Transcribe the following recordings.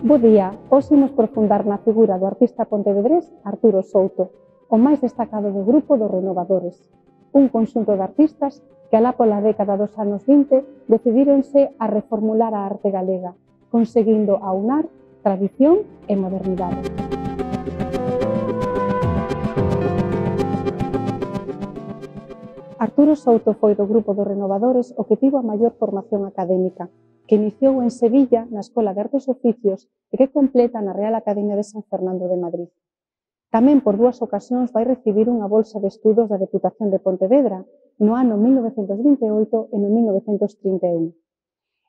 Bo día, hoxe imos profundar na figura do artista pontevedrés Arturo Souto, o máis destacado do grupo dos Renovadores, un conxunto de artistas que alá pola década dos anos 20 decidíronse a reformular a arte galega, conseguindo aunar tradición e modernidade. Arturo Souto foi do grupo dos Renovadores o que tivo a maior formación académica, que iniciou en Sevilla na Escola de Artes e Oficios e que completa na Real Academia de San Fernando de Madrid. Tamén por dúas ocasións vai recibir unha bolsa de estudos da Deputación de Pontevedra no ano 1928 e no 1931.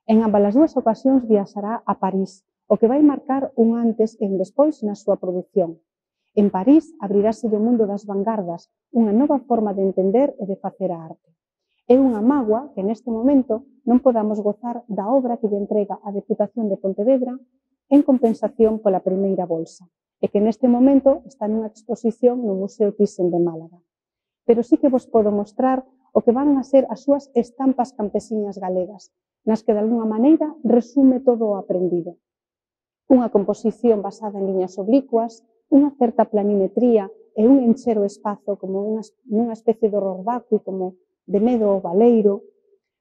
En ambas as dúas ocasións viaxará a París, o que vai marcar un antes e un despois na súa produción. En París abrirase o mundo das vanguardas, unha nova forma de entender e de facer a arte. É unha mágoa que neste momento non podamos gozar da obra que lle entrega a Deputación de Pontevedra en compensación pola primeira bolsa, e que neste momento está nunha exposición no Museo Thyssen de Málaga. Pero sí que vos podo mostrar o que van a ser as súas estampas campesiñas galegas, nas que de alguna maneira resume todo o aprendido. Unha composición basada en liñas oblicuas, unha certa planimetría e un encher o espazo como nunha especie de horror vacui, como de medo ao baleiro,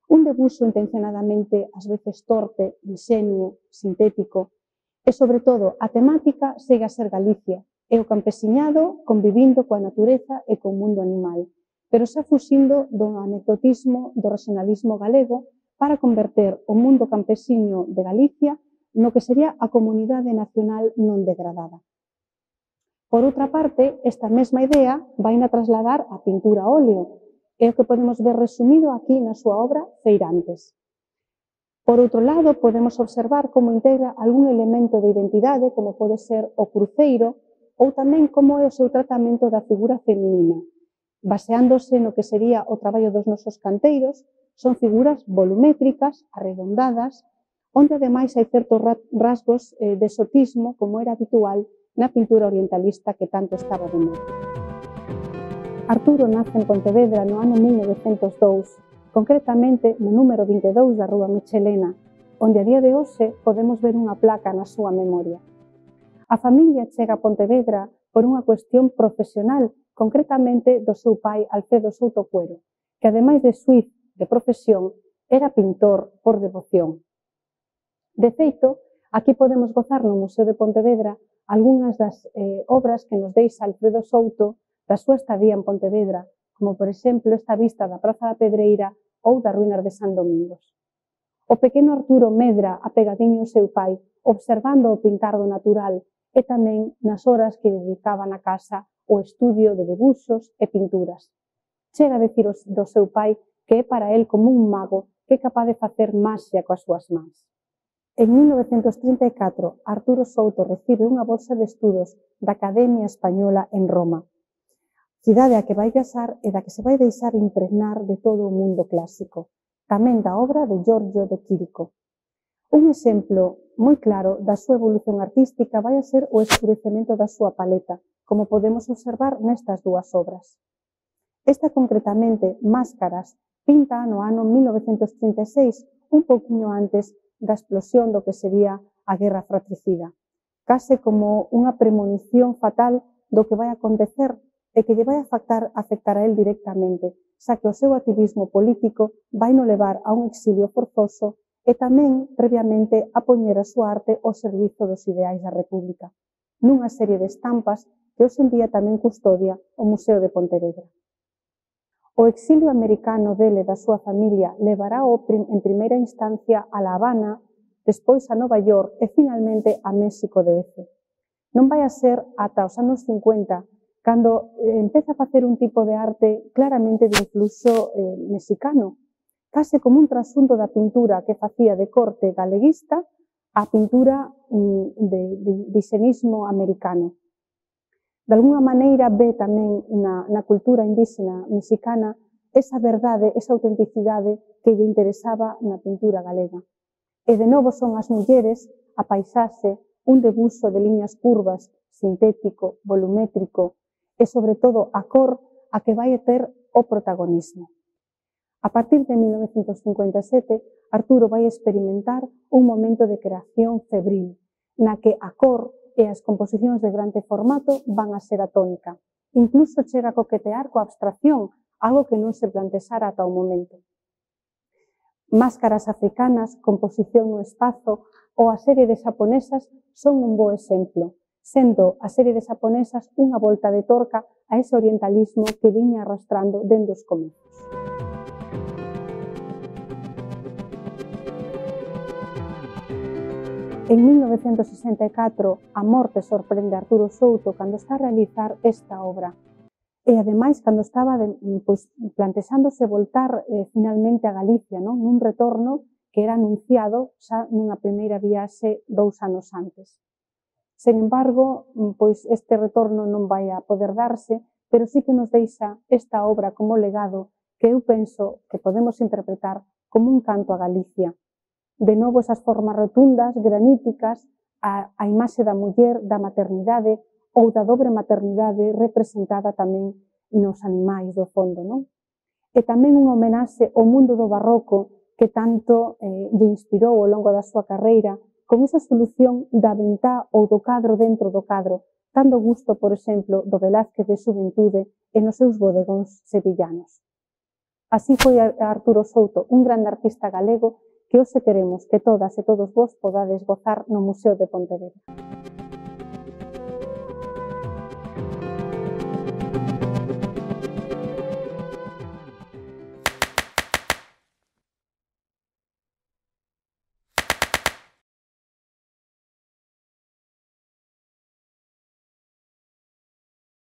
un debuxo intencionadamente ás veces torpe, inxenuo, sintético, e, sobre todo, a temática segue a ser Galicia, e o campesiñado convivindo coa natureza e co mundo animal, pero xa fuxindo do anecdotismo do regionalismo galego para converter o mundo campesiño de Galicia no que sería a comunidade nacional non degradada. Por outra parte, esta mesma idea vai a trasladar a pintura a óleo, é o que podemos ver resumido aquí na súa obra Feirantes. Por outro lado, podemos observar como integra algún elemento de identidade, como pode ser o cruceiro, ou tamén como é o seu tratamento da figura feminina. Baseándose no que sería o traballo dos nosos canteiros, son figuras volumétricas, arredondadas, onde ademais hai certos rasgos de exotismo, como era habitual na pintura orientalista que tanto estaba de moda. Arturo nace en Pontevedra no ano 1902, concretamente no número 22 da Rúa Michelena, onde a día de hoxe podemos ver unha placa na súa memoria. A familia chega a Pontevedra por unha cuestión profesional, concretamente do seu pai Alfredo Souto Cuero, que ademais de suiz de profesión, era pintor por devoción. De feito, aquí podemos gozar no Museo de Pontevedra algunhas das obras que nos deixa Alfredo Souto da súa estadía en Pontevedra, como por exemplo esta vista da Praza da Pedreira ou das ruínas de San Domingos. O pequeno Arturo medra apegadiño ao seu pai, observando o pintar do natural e tamén nas horas que dedicaba na casa ao estudio de debuxos e pinturas. Chega a decir do seu pai que é para el como un mago que é capaz de facer maxia coas súas mans. En 1934, Arturo Souto recibe unha bolsa de estudos da Academia Española en Roma, cidade a que vai viaxar e da que se vai deixar impregnar de todo o mundo clásico, tamén da obra de Giorgio de Chirico. Un exemplo moi claro da súa evolución artística vai a ser o escurecemento da súa paleta, como podemos observar nestas dúas obras. Esta concretamente, Máscaras, pinta no ano 1936, un pouquiño antes da explosión do que sería a Guerra Fratricida, case como unha premonición fatal do que vai acontecer e que lle vai afectar a él directamente, xa que o seu activismo político vai no levar a un exilio forzoso e tamén, previamente, a poñer a súa arte ao servizo dos ideais da República, nunha serie de estampas que hoxe en día tamén custodia o Museo de Pontevedra. O exilio americano dele e da súa familia levará en primeira instancia a La Habana, despois a Nova York e finalmente a México DF. Non vai a ser ata os anos 50 cando empeza a facer un tipo de arte claramente de influxo mexicano, case como un trasunto da pintura que facía de corte galeguista a pintura de xenismo americano. De alguna maneira ve tamén na cultura indígena mexicana esa verdade, esa autenticidade que lle interesaba na pintura galega. E de novo son as mulleres, a paisaxe, un debuxo de liñas curvas, sintético, volumétrico, e, sobre todo, a cor a que vai ter o protagonismo. A partir de 1957, Arturo vai experimentar un momento de creación febril, na que a cor e as composicións de grande formato van a ser a tónica. Incluso chega a coquetear coa abstracción, algo que non se plantexara ata o momento. Máscaras africanas, composición no espazo ou a serie de xaponesas son un bo exemplo, sendo a serie de xaponesas unha volta de torca a ese orientalismo que viña arrastrando dende os comezos. En 1964, a morte sorprende a Arturo Souto cando está a realizar esta obra. E, ademais, cando estaba plantexándose voltar finalmente a Galicia, nun retorno que era anunciado xa nunha primeira viaxe 2 anos antes. Sen embargo, este retorno non vai a poder darse, pero sí que nos deixa esta obra como legado que eu penso que podemos interpretar como un canto a Galicia. De novo, esas formas rotundas, graníticas, a imaxe da muller, da maternidade ou da dobre maternidade representada tamén nos animais do fondo, non? E tamén unha homenaxe ao mundo do barroco que tanto lle inspirou ao longo da súa carreira, con esa solución da ventá ou do cadro dentro do cadro, dando gusto, por exemplo, do Velázquez de Xuventude e nos seus bodegóns sevillanos. Así foi Arturo Souto, un grande artista galego que hoxe queremos que todas e todos vos podades gozar no Museo de Pontevedra.